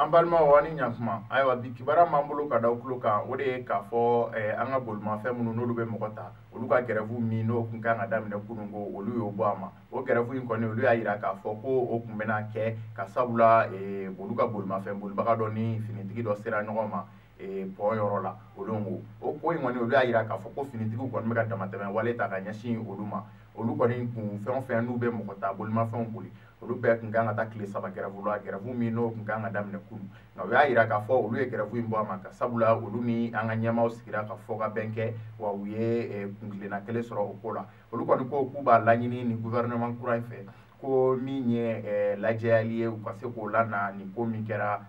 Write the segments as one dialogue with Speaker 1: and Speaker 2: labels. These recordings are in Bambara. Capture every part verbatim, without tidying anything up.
Speaker 1: An balimaw, aw ni ɲantuma. Ayiwa, bi kibaruya m'an bolo ka da aw tulo kan, o de ye k'a fɔ an ka bolimafɛn minnu n'olu bɛ mɔgɔ ta, olu ka grève min n'o tun kan ka daminɛ kunun ko, olu y'o bɔ a ma. O grève in kɔni, olu y'a jira k'a fɔ ko o tun bɛna kɛ ka sabula olu ka bolimafɛn bolibaga dɔ ni finitigi dɔ sera ɲɔgɔn ma pont yɔrɔ la. Olu ko o ko in kɔni, olu y'a jira k'a fɔ ko finitigiw kɔni bɛ ka damatɛmɛ wale ta ka ɲɛsin olu ma. Olu kɔni kun fɛn o fɛn n'u bɛ mɔgɔ ta, bolimafɛnw boli, olu bɛɛ tun kan ka taa tile saba grève la, grève min n'o tun kan ka daminɛ kunun. Nka u y'a jira k'a fɔ olu ye grève in bɔ a ma ka sabula olu ni an ka ɲɛmaaw sigira ka fɔ ka bɛn kɛ, wa u ye kuntilenna kelen sɔrɔ o ko la. Olu kɔni ko k'u b'a laɲini ni gouvernement kura in fɛ ko min ye lajɛyali ye, u ka se k'o lana nin ko min kɛra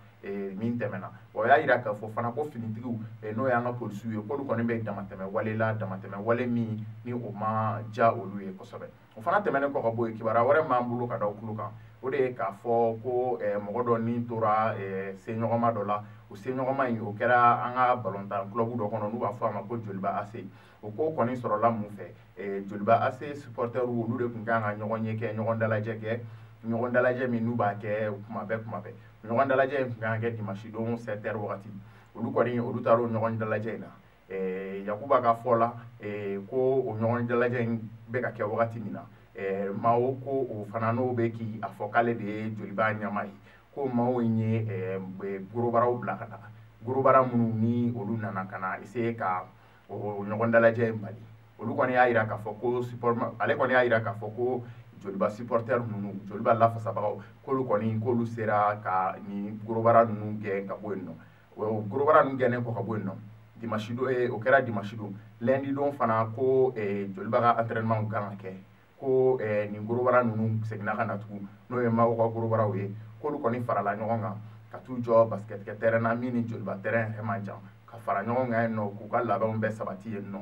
Speaker 1: min tɛmɛna. O y'a jira k'a fɔ fana ko finitigiw, n'o y'an ka polisiw ye, k'olu kɔni bɛ damatɛmɛ wale la, damatɛmɛ wale min ni o ma diya olu ye kosɛbɛ. O fana tɛmɛnen kɔ ka bɔ yen, kibaruya wɛrɛ m'an bolo ka da aw tulo kan, o de ye k'a fɔ ko mɔgɔ dɔ ni tora seɲɔgɔnma dɔ la. O seɲɔgɔnma in, o kɛra an ka balontan club dɔ kɔnɔ n'u b'a fɔ a ma ko Joliba A C. O ko kɔni sɔrɔla mun fɛ? Joliba A C supporters, olu de tun kan ka ɲɔgɔn ye kɛ, ɲɔgɔn dalajɛ kɛ, ɲɔgɔn dalajɛ min n'u b'a kɛ kuma bɛɛ kuma bɛɛ. Ɲɔgɔn dalajɛ in tun kan ka kɛ dimanche don sept heures wagati. Olu kɔni, olu taara o ɲɔgɔn dalajɛ in na. Yakuba ka fɔ la ko o ɲɔgɔn dalajɛ in bɛ ka kɛ wagati min na, maaw ko o fana n'o bɛ k'i a fɔ k'ale de ye Joliba ɲɛmaa ye, ko maaw in ye gorobaraw bila ka na, gorobara minnu ni olu nana ka na essayer ka o ɲɔgɔn dalajɛ in bali. Olu kɔni y'a jira k'a fɔ ko support, ale kɔni y'a jira k'a fɔ ko Joliba supporter ninnu, Joliba lafasabagaw, k'olu kɔni k'olu sera ka nin gorobara ninnu gɛn ka bɔ yen nɔ. O gorobara ninnu gɛnnen kɔ ka bɔ yen nɔ, dimanche don, o kɛra dimanche don, lundi don fana ko Joliba ka entraînement kan ka kɛ, ko nin gorobara ninnu seginna ka na tugun, n'o ye maaw ka gorobaraw ye, k'olu kɔni farala ɲɔgɔn kan ka t'u jɔ basket kɛ terrain na min ni Joliba terrain yɛrɛ man jan, ka fara ɲɔgɔn kan yen nɔ, k'u ka labɛnw bɛɛ sabati yen nɔ,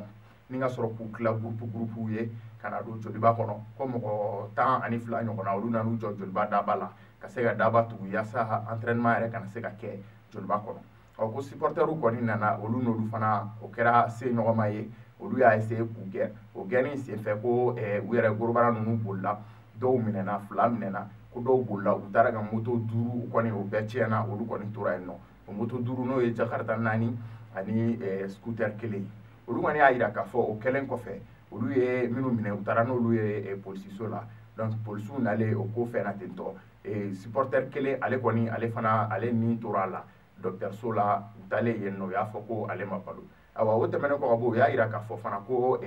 Speaker 1: ni ka sɔrɔ k'u tila groupe groupe ye ka na don Joliba kɔnɔ. Ko mɔgɔ tan ani fila ɲɔgɔnna, olu nan'u jɔ Joliba daba la ka se ka daba tugu yaasa entraînement yɛrɛ kana se ka kɛ Joliba kɔnɔ. Ɔ, ko supporters kɔni nana, olu n'olu fana o kɛra se ɲɔgɔnma ye, olu y'a essayer k'u gɛn. O gɛnni senfɛ, ko u yɛrɛ gorobara ninnu bolila, dɔw minɛna, fila minɛna, ko dɔw bolila, u taara ka moto duuru kɔni, o bɛɛ tiɲɛna, olu kɔni tora yen nɔ. O moto duuru, n'o ye Jakarta naani ani scooter kelen. Olu kɔni y'a jira k'a fɔ o kɛlen kɔfɛ, olu ye minnu minɛ, u taara n'olu ye polisiso la. Donc polisiw nalen o ko fɛn na ten tɔ, supporter kelen, ale kɔni, ale fana, ale ni tora a la dɔgɔtɔrɔso la. U taalen yen nɔ, u y'a fɔ ko ale ma balo. Ayiwa, o tɛmɛnen kɔ ka bɔ, u y'a jira k'a fɔ fana ko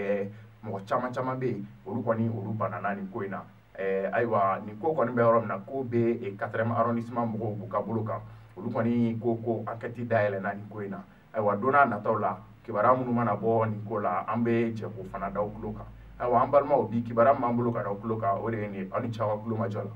Speaker 1: mɔgɔ caman caman bɛ yen, olu kɔni, olu banana nin ko in na. Ayiwa, nin ko kɔni bɛ yɔrɔ min na, ko bɛ quatrième arrondissement mɔgɔw b'u ka bolo kan. Olu kɔni ko ko enquête dayɛlɛnna nin ko in na. Ayiwa, don n'a nataw la, kibaruya minnu mana bɔ nin ko la, an bɛ jɛ k'o fana da aw tulo kan. Ayiwa, an balimaw, bi kibaruya min b'an bolo ka da aw tulo kan, o de ye nin ye. Aw ni ce aw ka tulo majɔ la.